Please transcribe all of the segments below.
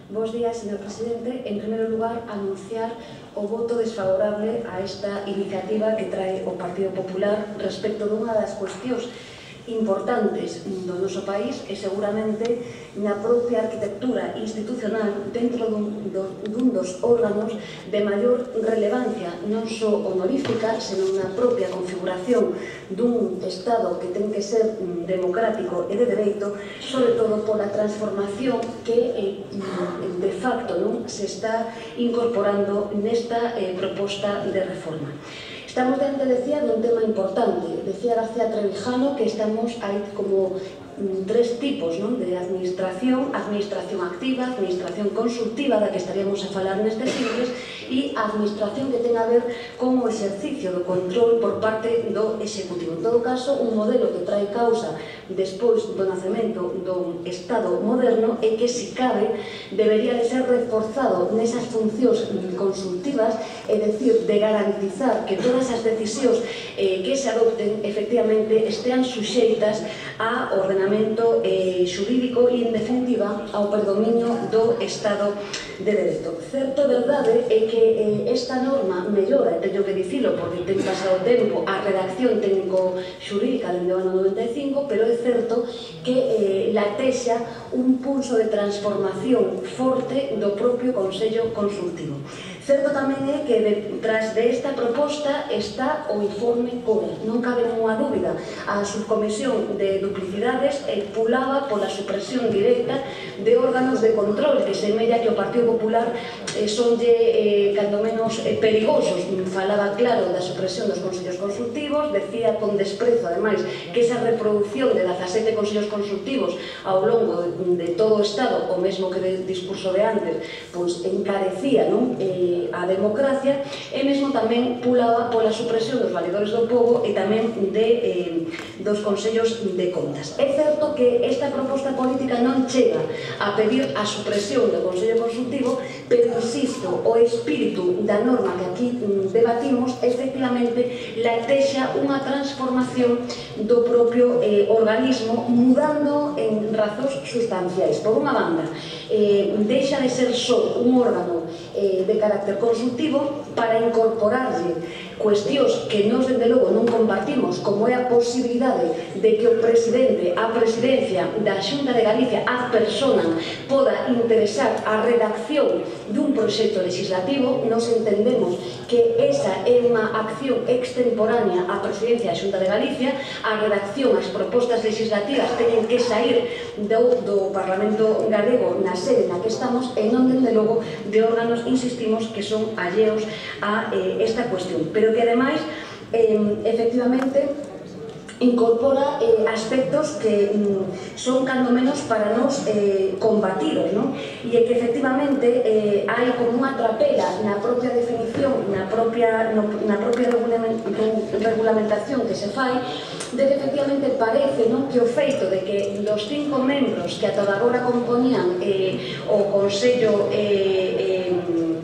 Bos días, señor presidente. En primeiro lugar, anunciar o voto desfavorable a esta iniciativa que trae o Partido Popular respecto dunha das cuestións importantes do noso país e seguramente na propia arquitectura institucional dentro dun dos órganos de maior relevancia, non só honorífica, senón na propia configuración dun Estado que ten que ser democrático e de dereito, sobre todo pola transformación que de facto se está incorporando nesta proposta de reforma. Estamos diante, decía, dun tema importante. Decía García Trevijano que hai como tres tipos de administración: administración activa, administración consultiva, da que estaríamos a falar nestes siglos, e a administración que ten a ver con o exercicio do control por parte do Executivo. En todo caso, un modelo que trae causa despois do nacemento do Estado moderno e que, se cabe, debería de ser reforzado nesas funcións consultivas, é dicir, de garantizar que todas as decisións que se adopten efectivamente estean suxeitas a ordenamento xurídico e, en definitiva, ao predominio do Estado de Dereito. Certo verdade é que esta norma mellora, teño que dicilo porque ten pasado tempo, a redacción técnico-xurídica dende o ano 95, pero é certo que latexa un pulso de transformación forte do propio Consello Consultivo. Certo tamén é que detrás desta proposta está o informe COBE. Non cabe ninguna dúbida. A subcomisión de duplicidades pulaba pola supresión directa de órganos de control, que semella que o Partido Popular sonlle cando menos perigosos. Falaba claro da supresión dos consellos consultivos, decía con desprezo, ademais, que esa reproducción de 17 consellos consultivos ao longo de todo o Estado, o mesmo que de discurso de antes, pois encarecía a democracia, e mesmo tamén pulaba pola supresión dos valedores do pobo e tamén dos consellos de contas. É certo que esta proposta política non chega a pedir a supresión do Consello Consultivo, pero insisto, o espírito da norma que aquí debatimos efectivamente latexa unha transformación do propio organismo, mudando en razóns sustanciais. Por unha banda, deixa de ser só un órgano de carácter consultivo para incorporarlle cuestións que nós, dende logo, non compartimos, como é a posibilidade de que o presidente, a presidencia da Xunta de Galicia, a persona, poda interesar a redacción dun proxecto legislativo. Nos entendemos que esa é unha acción extemporánea á presidencia da Xunta de Galicia. A redacción, as propostas legislativas teñen que sair do Parlamento galego na sede na que estamos e non, dende logo, de órganos, insistimos, que son alleos a esta cuestión, pero que ademais efectivamente incorpora aspectos que son cando menos para nos combatidos, e é que efectivamente hai como unha trapela na propia definición, na propia regulamentación que se fai, de que efectivamente parece que o feito de que dos 5 membros que ata agora compoñían o Consello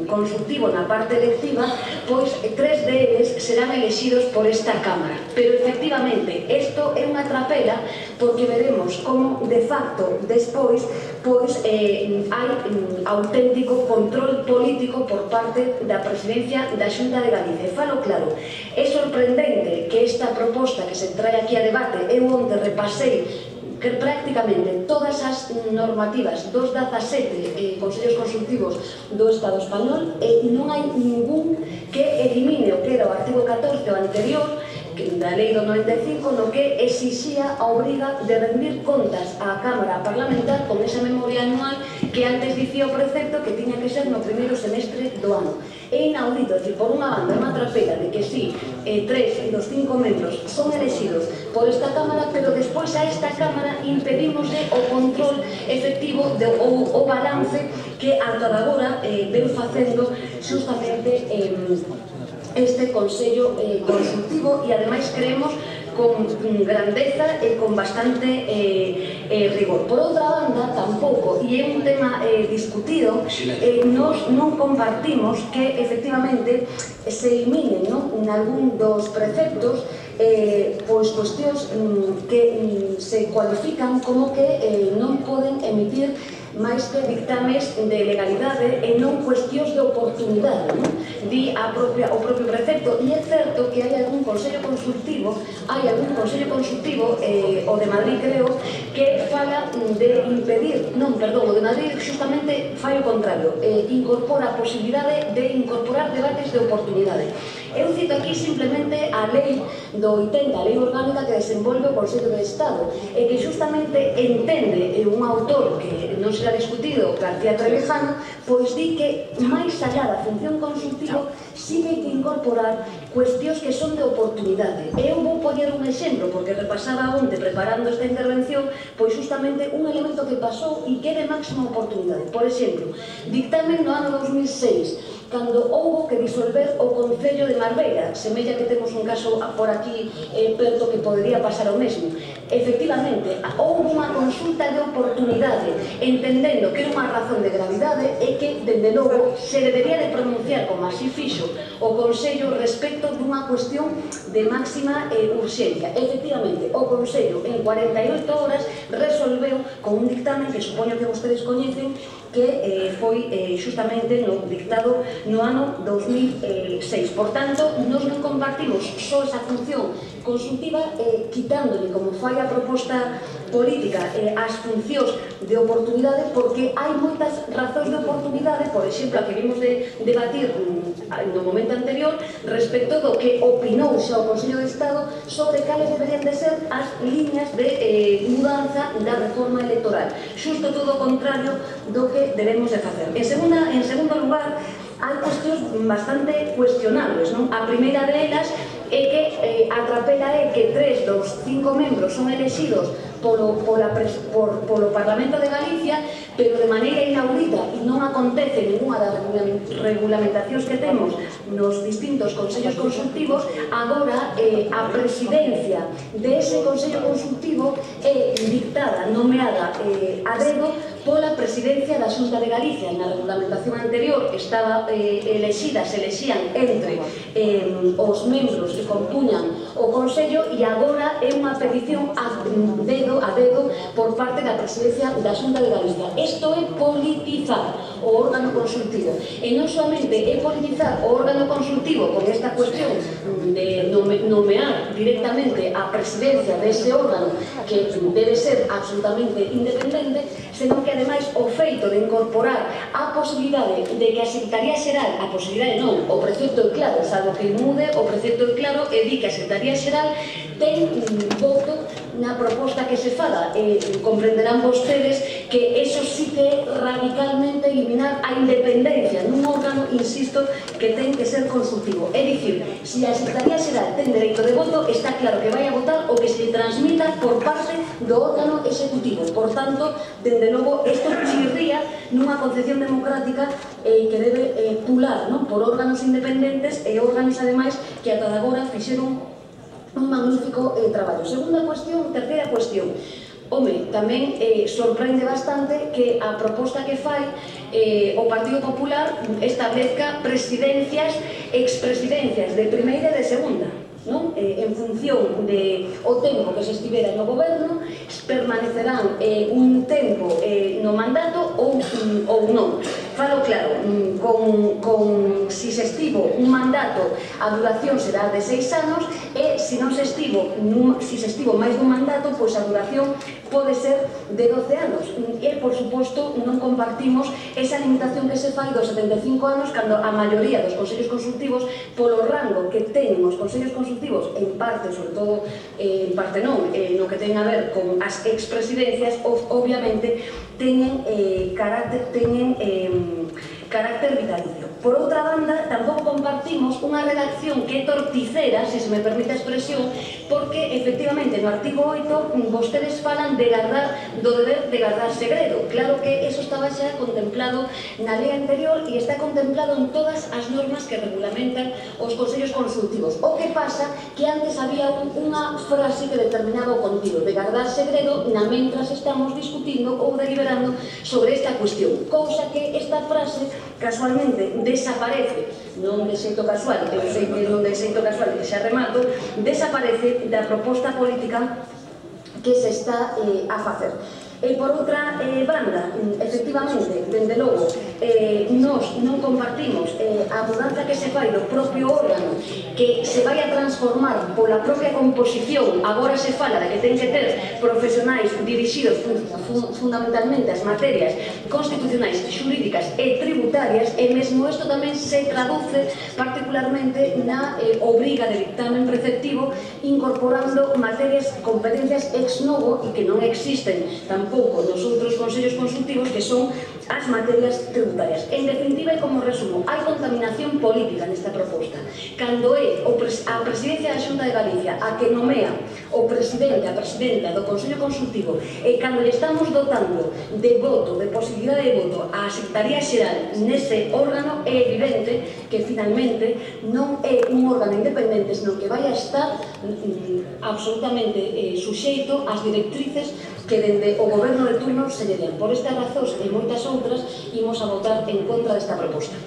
Consultivo na parte electiva, pois 3 deles serán elexidos por esta Cámara. Pero efectivamente isto é unha trapela, porque veremos como de facto despois hai auténtico control político por parte da presidencia da Xunta de Galicia. E falo claro, é sorprendente que esta proposta que se trae aquí a debate, eu onte repasei que prácticamente todas as normativas dos 17 consellos consultivos do Estado español, non hai ningún que elimine o que era o artigo 14, o anterior, da lei do 95, no que exixía a obriga de rendir contas á Cámara Parlamentar con esa memoria anual que antes dicía o precepto que tiña que ser no primeiro semestre do ano. É inaudito, que por unha banda, unha trapela de que si 3 dos 5 membros son elegidos por esta Cámara, pero despois a esta Cámara impedimosle o control efectivo ou o balance que ata agora ven facendo justamente este Consello Consultivo, e ademais creemos con grandeza e con bastante rigor. Por outra banda, tampouco, e é un tema discutido, nós non compartimos que efectivamente se eliminen en algún dos preceptos pois cuestións que se cualifican como que non poden emitir máis que dictames de legalidade e non cuestións de oportunidade, non? Di o propio precepto, e é certo que hai algún consello consultivo, o de Madrid creo, que fala de impedir, non, perdón, o de Madrid justamente fai o contrario, incorpora a posibilidade de incorporar debates de oportunidade. Eu cito aquí simplemente a lei do 80, a lei orgánica que desenvolve o Consello de Estado, e que justamente entende un autor que non será discutido, García Trevijano, pois di que máis allá da función consultiva sí que hai que incorporar cuestións que son de oportunidade. Eu vou poñer un exemplo, porque repasaba onte preparando esta intervención, pois justamente un elemento que pasou e que é de máxima oportunidade. Por exemplo, dictamen no ano 2006, cando houbo que disolver o Concello de Marbella, semella que temos un caso por aquí perto que podería pasar o mesmo. Efectivamente, houbo unha consulta de oportunidade, entendendo que era unha razón de gravidade e que, dende logo, se debería de pronunciar, como así fixo o Consello, respecto dunha cuestión de máxima urxencia. Efectivamente, o Consello, en 48 horas, resolveu con un dictamen que supoño que vostedes coñecen, que foi justamente dictado no ano 2006. Por tanto, nós non compartimos só esa función consultiva, quitándole, como fai a proposta política, as funcións de oportunidade, porque hai moitas razóns de oportunidade, por exemplo, a que vimos de debatir no momento anterior, respecto do que opinou xa o Consello de Estado sobre cales deberían de ser as líneas de mudanza da reforma electoral. Xusto todo o contrario do que debemos de facer. En segundo lugar, hai cuestións bastante cuestionables, non? A primeira delas é que a trapela é que 3 dos 5 membros son elexidos polo Parlamento de Galicia, pero de maneira inaudita, e non acontece ninguna das regulamentacións que temos nos distintos consellos consultivos. Agora a presidencia dese consello consultivo é dictada, nomeada a dedo pola presidencia da Xunta de Galicia. Na regulamentación anterior estaba se elexían entre os membros que compuñan o Consello, e agora é unha petición a dedo por parte da presidencia da Xunta de Galicia. Isto é politizar o órgano consultivo, e non solamente é politizar o órgano consultivo con esta cuestión de nomear directamente a presidencia dese órgano, que debe ser absolutamente independente, senón que ademais o feito de incorporar a posibilidade de que a Secretaría Xeral, a posibilidade non, o precepto é claro, salvo que mude, o precepto é claro e di que a Secretaría Xeral ten un voto na proposta que se fala. Comprenderán vostedes que eso sí que é radicalmente eliminar a independencia nun órgano, insisto, que ten que ser consultivo. É dicir, se a Secretaría Xeral ten dereito de voto, está claro que vai a votar o que se transmita por parte do órgano executivo. Por tanto, dende logo, isto chirría nunha concepción democrática que debe pular por órganos independentes e órganos, ademais, que ata agora fixeron un magnífico traballo. Terceira cuestión. Home, tamén sorprende bastante que a proposta que fai o Partido Popular establezca presidencias, expresidencias de primeira e de segunda, non? En función do tempo que se estivera no goberno, permanecerán un tempo no mandato ou non. Falo claro, si se estivo un mandato, a duración será de 6 anos, e se se estivo máis dun mandato, pois a duración pode ser de 12 anos. E, por suposto, non compartimos esa limitación que se fai dos 75 anos, cando a maioría dos consellos consultivos, polo rango que teñen os consellos consultivos, en parte, sobre todo, en parte non, no que ten a ver con as expresidencias, obviamente, teñen carácter vitalicio. Por outra banda, tampouco compartimos unha redacción que é torticera, se me permite a expresión, porque, efectivamente, no artigo 8, vostedes falan do deber de guardar segredo. Claro que eso estaba xa contemplado na lei anterior e está contemplado en todas as normas que regulamentan os consellos consultivos. O que pasa que antes había unha frase que determinaba o contido de guardar segredo na mentras estamos discutindo ou deliberando sobre esta cuestión. Cousa que esta frase casualmente desaparece, non de xeito casual, eu sei que non de xeito casual, que xa remato, desaparece da proposta política que se está a facer. E por outra banda, efectivamente, dende logo, nós non compartimos a mudanza que se fai do propio órgano, que se vai a transformar pola propia composición. Agora se fala de que ten que ter profesionais dirixidos fundamentalmente as materias constitucionais, xurídicas e tributarias, e mesmo isto tamén se traduce particularmente na obriga de dictamen preceptivo, incorporando materias, competencias ex novo e que non existen tampouco nos outros consellos consultivos, que son as materias tributarias. En definitiva, e como resumo, hai contaminación política nesta proposta. Cando é a Presidencia da Xunta de Galicia a que nomea o presidente, a presidenta do Consello Consultivo, e cando lle estamos dotando de voto, de posibilidade de voto á Secretaría Xeral nese órgano, é evidente que finalmente non é un órgano independente, senón que vai a estar absolutamente suxeito ás directrices que dende o goberno de turno se lle den. Por estas razóns e moitas outras, imos a votar en contra desta proposta.